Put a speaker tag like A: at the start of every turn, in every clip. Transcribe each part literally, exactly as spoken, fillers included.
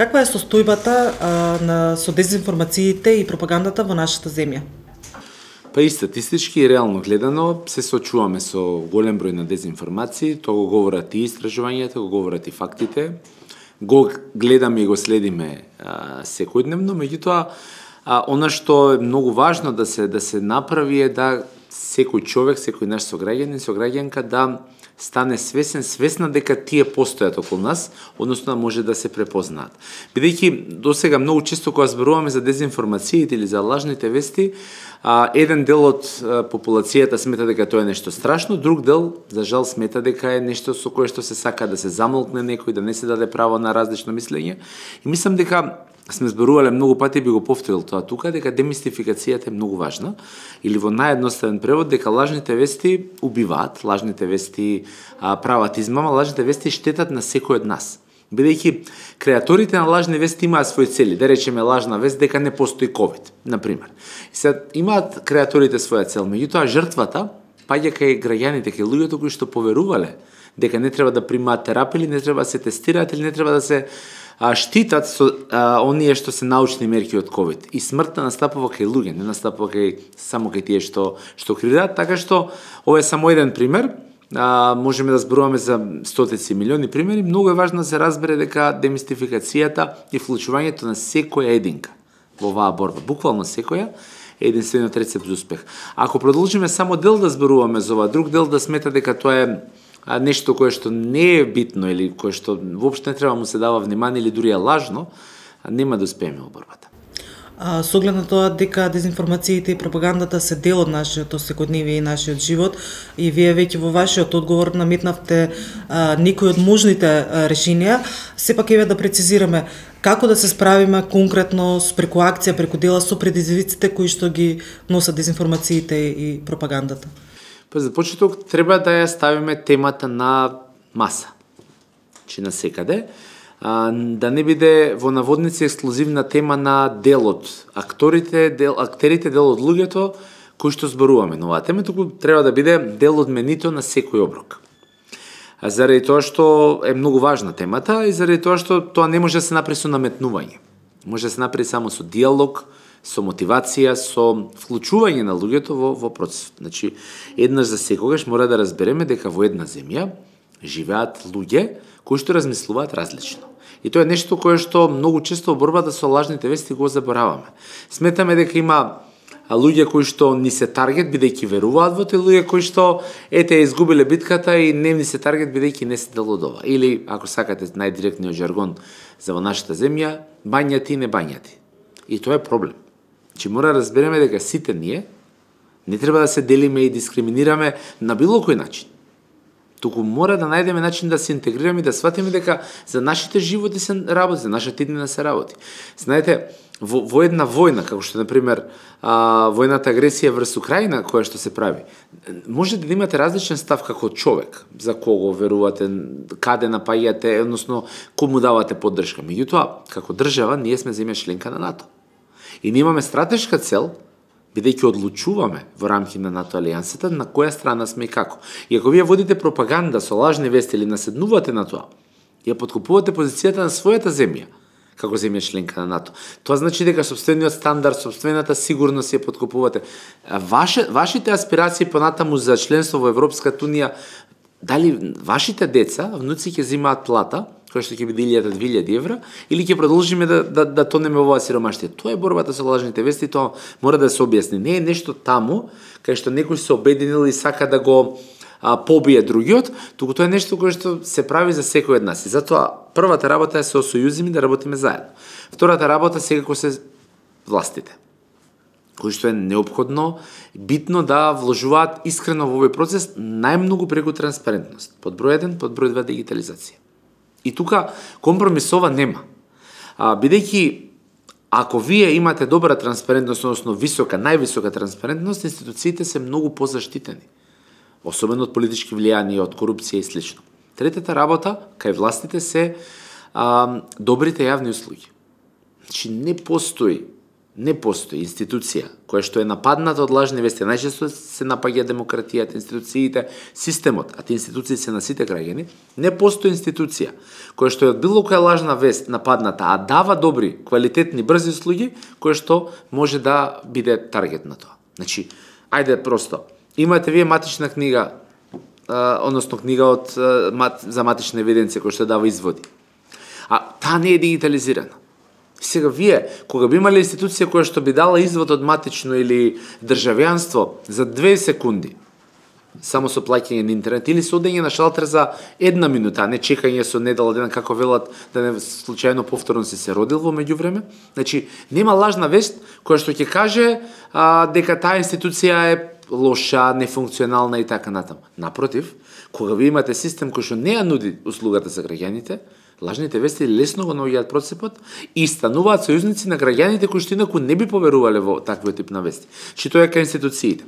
A: Каква е состојбата а, на со дезинформациите и пропагандата во нашата земја?
B: Па и статистички и реално гледано се соочуваме со голем број на дезинформации, тоа го говорат и истражувањата, го говорат и фактите, го гледаме и го следиме а, секојдневно, меѓутоа а, она што е многу важно да се да се направи е да секој човек, секој наш сограѓанин, сограѓанка да стане свесен, свесна дека тие постојат околу нас, односно може да се препознаат. Бидејќи досега многу често кога зборуваме за дезинформациите или за лажните вести, а, еден дел од а, популацијата смета дека тоа е нешто страшно, друг дел, за жал, смета дека е нешто со кое што се сака да се замолкне некој, да не се даде право на различно мислење. И мислам дека сме зборувале многу пати, би го повторил тоа тука, дека демистификацијата е многу важна, или во наједноставен превод дека лажните вести убиваат, лажните вести а, прават измама, лажните вести штетат на секој од нас. Бидејќи креаторите на лажни вести имаат свои цели, да речеме лажна вест дека не постои ковид, например. И сега имаат креаторите своја цел, меѓутоа жртвата паѓа кај граѓаните, кај луѓето кои што поверувале дека не треба да примаат терапија, или не треба да се тестираат, или не треба да се а, штитат со а, оние што се научни мерки од ковид. И смртта настапува кај луѓе, не настапува кај само кај тие што што криваат, така што ова е само еден пример. А, можеме да зборуваме за стотици милиони примери. Многу е важно да се разбере дека демистификацијата и вклучувањето на секоја единка во оваа борба, буквално секоја, е единствениот рецепт за успех. Ако продолжиме само дел да зборуваме за ова, друг дел да смета дека тоа е а, нешто кое што не е битно или кое што воопшто не треба му се дава внимание или дури е лажно, нема да успееме во борбата.
A: А, со оглед на тоа дека дезинформациите и пропагандата се дел од нашиот секојдневие и нашиот живот, и вие веќе во вашиот одговор наметнавте а, некои од можните а, решенија, сепак еве да прецизираме како да се справиме конкретно преку акција, преку дела со предизвиците кои што ги носат дезинформациите и пропагандата.
B: Па за почеток треба да ја ставиме темата на маса, че на секаде, а, да не биде во наводници ексклузивна тема на делот, акторите, дел, актерите, дел од луѓето кои што зборуваме на оваа тема, туку треба да биде дел од менито на секој оброк. А заради тоа што е многу важна темата и заради тоа што тоа не може да се направи со наметнување. Може да се направи само со диалог, со мотивација, со вклучување на луѓето во, во процес. Значи, еднаш за секогаш мора да разбереме дека во една земја живеат луѓе кои што размислуваат различно. И тоа е нешто кое што многу често во борбата со лажните вести го забораваме. Сметаме дека има луѓе кои што ни се таргет бидејќи веруваат во тоа, луѓе кои што ете изгубиле битката и не ни се таргет бидејќи не се дел од ова. Или ако сакате најдиректниот жаргон за во нашата земја, бањати и не бањати. И тоа е проблем. Че мора да разбереме дека сите ние не треба да се делиме и дискриминираме на било кој начин. Туку мора да најдеме начин да се интегрираме и да сватиме дека за нашите животи се работи, за нашата иднина се работи. Знаете, во, во една војна, како што, например, а, војната агресија врз Украина, која што се прави, може да имате различен став како човек, за кого верувате, каде напаѓате, односно, кому давате поддршка. Меѓутоа, како држава, ние сме земја членка на НАТО. И ние имаме стратешка цел, бидејќи одлучуваме во рамки на НАТО алијансата на која страна сме и како. И ако вие водите пропаганда со лажни вести или наседнувате на тоа, ја подкупувате позицијата на својата земја, како земја членка на НАТО. Тоа значи дека собствениот стандард, собствената сигурност ја подкупувате. Ваше, вашите аспирации понатаму за членство во Европската унија, дали вашите деца, внуци ќе земаат плата, која што ќе биде илјада две илјади евра, или ќе продолжиме да, да, да тонеме во оваа сиромаштија. Тоа е борбата со лажните вести, тоа мора да се објасни. Не е нешто таму, кај што некој се обединил и сака да го а, побие другиот, туку тоа е нешто кое што се прави за секој од нас. И затоа првата работа е се осојузиме да работиме заедно. Втората работа секако се властите, кои што е неопходно, битно да вложуваат искрено во овој процес, најмногу преку транспарентност. Под број еден, под број два дигитализација. И тука компромисова нема. А, бидејќи ако вие имате добра транспарентност, односно висока, највисока транспарентност, институциите се многу позаштитени. Особено од политички влијани, од корупција и слично. Третата работа кај властите се а, добрите јавни услуги. Значи не постои Не постои институција која што е нападната од лажни вести. Најчесто се напаѓа демократијата, институциите, системот, а тие институции се на сите граѓани. Не постои институција која што е од било која лажна вест нападната, а дава добри, квалитетни, брзи услуги, која што може да биде таргет на тоа. Значи, ајде просто, имате вие матична книга, а, односно книга од а, мат, за матична евиденција која што дава изводи. А таа не е дигитализирана. Сега вие, кога би имале институција која што би дала извод од матично или државјанство за две секунди, само со плаќање на интернет или со одење на шалтер за една минута, а не чекање со недела дена како велат да не случајно повторно си се родил во меѓувреме, значи нема лажна вест која што ќе каже а, дека таа институција е лоша, нефункционална и така натаму. Напротив, кога ви имате систем кој што не ја нуди услугата за граѓаните, лажните вести лесно го наоѓаат процепот и стануваат сојузници на граѓаните кои што инаку не би поверувале во таквиот тип на вести. Чи тоа е кај институциите.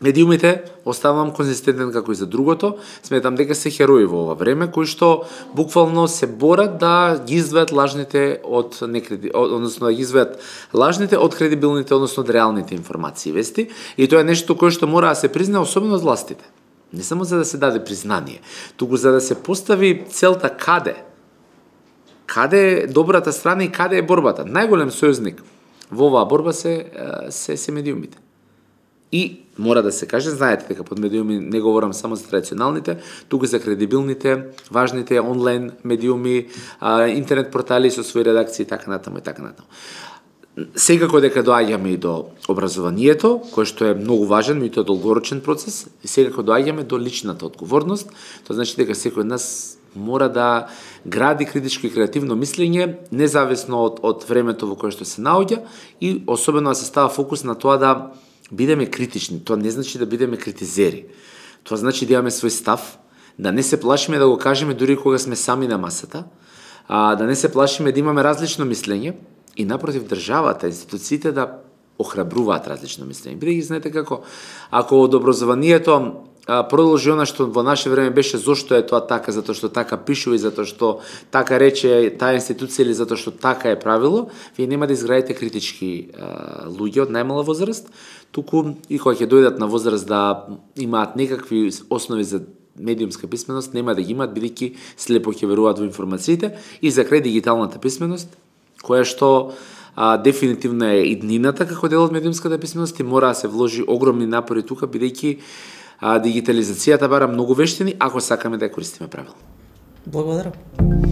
B: Медиумите оставам конзистентен како и за другото, сметам дека се херои во ова време кои што буквално се борат да ги извадат лажните од некреди, односно да ги извадат лажните од кредибилните, односно од реалните информации и вести, и тоа е нешто кое што мора да се признае особено од властите. Не само за да се даде признание, туку за да се постави целта каде Каде е добрата страна и каде е борбата? Најголем сојузник во оваа борба се, се, се медиумите. И мора да се каже, знаете дека под медиуми не говорам само за традиционалните, туку за кредибилните, важните онлайн медиуми, интернет портали со своји редакции и така натаму и така натаму. Секако дека доаѓаме и до образованието, кое што е многу важен, и тоа е долгорочен процес, и секако доаѓаме до личната одговорност, тоа значи дека секој од нас мора да гради критичко и креативно мислење, независно од, од времето во кое што се наоѓа, и особено да се става фокус на тоа да бидеме критични. Тоа не значи да бидеме критизери. Тоа значи да имаме свој став, да не се плашиме да го кажеме дури кога сме сами на масата, а, да не се плашиме да имаме различно мислење, и напротив државата, институциите да охрабруваат различно мислење. Бидејќи знаете како, ако од образованието продолжи она што во наше време беше зошто е тоа така, затоа што така пишува и затоа што така рече таа институција или затоа што така е правило, вие нема да изградите критички а, луѓе од најмала возраст, туку и кога ќе дојдат на возраст да имаат некакви основи за медиумска писменост, нема да ги имаат, бидејќи слепо ќе веруваат во информациите, и за крај дигиталната писменост, која што а, дефинитивно е иднината како дел од медиумската писменост и мора да се вложи огромни напори тука, бидејќи а, дигитализацијата бара многу вештини, ако сакаме да ја користиме правилно.
A: Благодарам.